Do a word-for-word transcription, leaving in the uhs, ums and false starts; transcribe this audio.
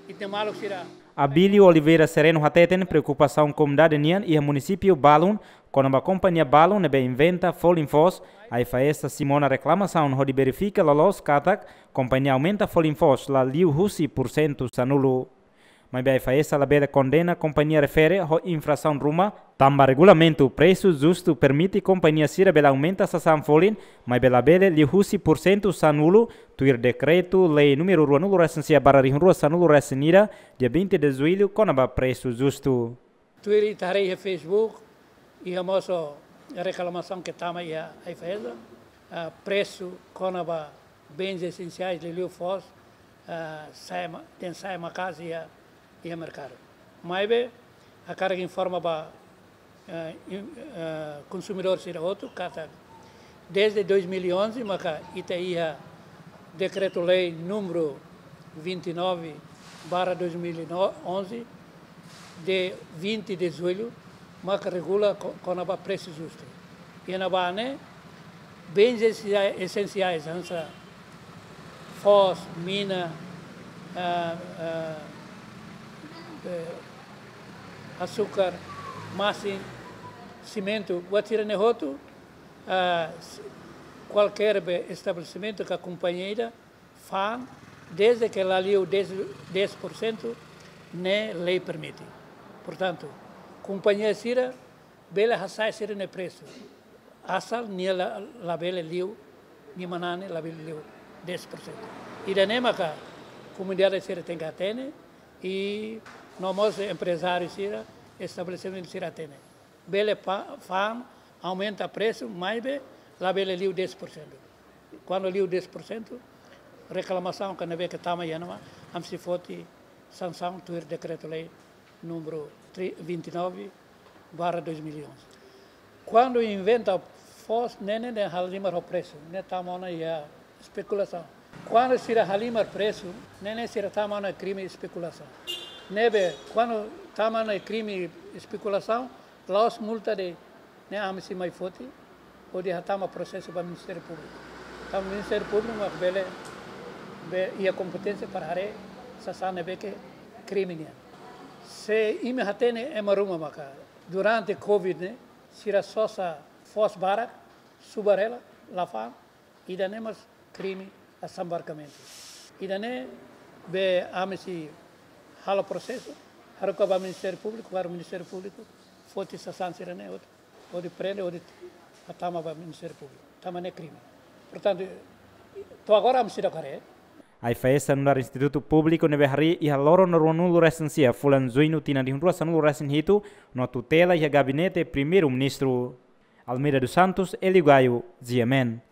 Ita maluk sira. Abílio Oliveira Sereno hateten preokupasaun komunidade nian iha munisípiu balun kona-ba kompañia balun ne'ebé inventa folin foos, AIFAESA simu ona reklamasaun hodi verifika loloos katak kompañia aumenta folin foos la liu husi pursentu sanulu. Maibé AIFAESA labele kondena kompañia refere ho infrasaun ruma, tanba regulamentu presu justu permite kompañia sira bele aumenta sasán folin, maibé labele liu husi pursentu sanulu, tuir dekretu-lei númeru ruanulu resin sia barra rihun rua sanulu resin ida, dia vinte de julho, kona-ba presu justu. Tuir ita haree iha Facebook, iha mós reklamasaun ke tama iha AIFAESA, ah, presu kona-ba bens esensiais liuliu foos, ah, sa'e ma-, dehan sa'e maka'as iha, iha merkadu. Maibé, hakarak informa ba, eh, in-, eh, konsumidór sira hotu katak, desde dois mil e onze maka ita iha dekretu-lei númeru vinte e nove barra dois mil e onze, de vinte de julho, maka regula ko-, kona-ba presu justu. Iha ne'ebá ne'e, bens esensia-, esensiais, hanesan foos, mina, ah, ah, eh, asukar, masin, simentu, buat sira-ne'e hotu, ah, s-, kualkér be estabelesimentu ka kompañia ida fa'an, desde ke la liu dez, dez por cento, ne'e lei permite. Portantu, kompañia sira bele hasa'e sira-nia presu. Asal nia la, labele liu, nia manán ne'e labele liu dez por cento. Ida-ne'e maka komunidade sira tenke hatene, i no mós emprezáriu sira, estabelesimentu sira hatene. Bele pa-, fa'an, aumenta presu, maibé labele liu dez por cento. Kuandu liu dez por cento, reklamasaun ka ne'ebé ke tama iha ne'ebá, ami sei foti sansaun tuir dekretu-lei númeru tri-, vinte e nove barra dois mil e onze. Kuandu inventa foos, ne'e, ne'e, ne'e halimar ho presu, ne'e tama ona iha espekulasaun. Kuandu sira halimar presu, ne'e, ne'e sira tama ona krime espekulasaun. Ne'ebé, kuandu tama ona krime espekulasaun, la'ós multa de'it, ne'e ami sei mai foti, hodi hatama prosesu ba Ministériu Públiku. Tanba Ministériu Públiku mak bele, be, iha kompeténsia para haree sasán ne'ebé ke krime nian. Se imi hatene ema ruma maka, durante covid ne'e, sira sosa foos barak, subar hela, la fa'an, ida-ne'e mós krime asambarkamentu. Ida-ne'e be ami sei halo prosesu, haruka ba Ministériu Públiku, para Ministériu Públiku foti sasán sira-ne'e hotu, hodi prende, hodi hatama ba Ministériu Públiku. Tanba ne'e krime. Portantu, to'o agora ami seidauk haree. AIFAESA nu'udar institutu públiku ne'ebé harii iha loron ruanulu resin sia fulan Juñu tinan rihun rua sanulu resin hitu, no tutela iha Gabinete Primeiru-Ministru. Almeida dos Santos, Hélio Gaio, G M N.